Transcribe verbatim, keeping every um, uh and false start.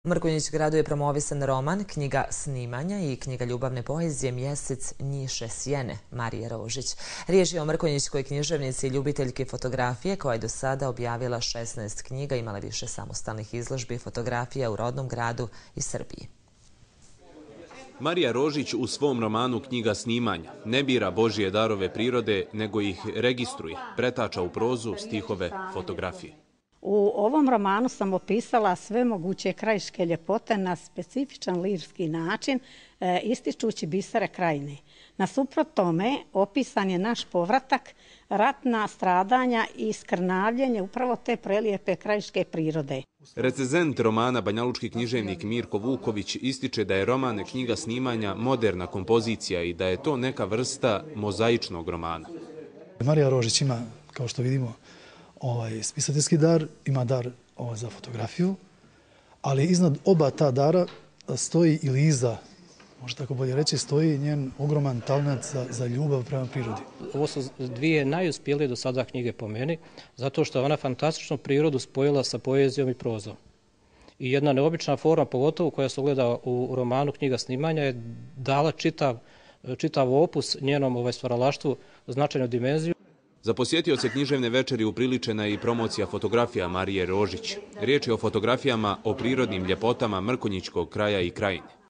U Mrkonjić-gradu je promovisan roman, knjiga snimanja i knjiga ljubavne poezije Mjesec njiše sjene Marije Rožić. Riječ je o mrkonjićkoj književnici i ljubiteljki fotografije koja je do sada objavila šesnaest knjiga, imala više samostalnih izložbi i fotografija u rodnom gradu i Srbiji. Marija Rožić u svom romanu Knjiga snimanja ne bira Božje darove prirode, nego ih registruje, pretača u prozu, stihove, fotografije. U ovom romanu sam opisala sve moguće krajiške ljepote na specifičan lirski način, e, ističući bisere krajine. Nasuprot tome, opisan je naš povratak, ratna stradanja i skrnavljenje upravo te prelijepe krajiške prirode. Recenzent romana banjalučki književnik Mirko Vuković ističe da je roman Knjiga snimanja moderna kompozicija i da je to neka vrsta mozaičnog romana. Marija Rožić ima, kao što vidimo, ovaj spisateljski dar, ima dar ovaj, za fotografiju, ali iznad oba ta dara stoji ili iza, može tako bolje reći, stoji njen ogroman talent za, za ljubav prema prirodi. Ovo su dvije najuspjelije do sada knjige po meni, zato što je ona fantastičnu prirodu spojila sa poezijom i prozom. I jedna neobična forma, pogotovo koja se ogleda u romanu Knjiga snimanja, je dala čitav, čitav opus njenom ovaj, stvaralaštvu značajnu dimenziju. Za posjetioce književne večeri upriličena je i promocija fotografija Marije Rožić. Riječ je o fotografijama o prirodnim ljepotama mrkonjićkog kraja i krajine.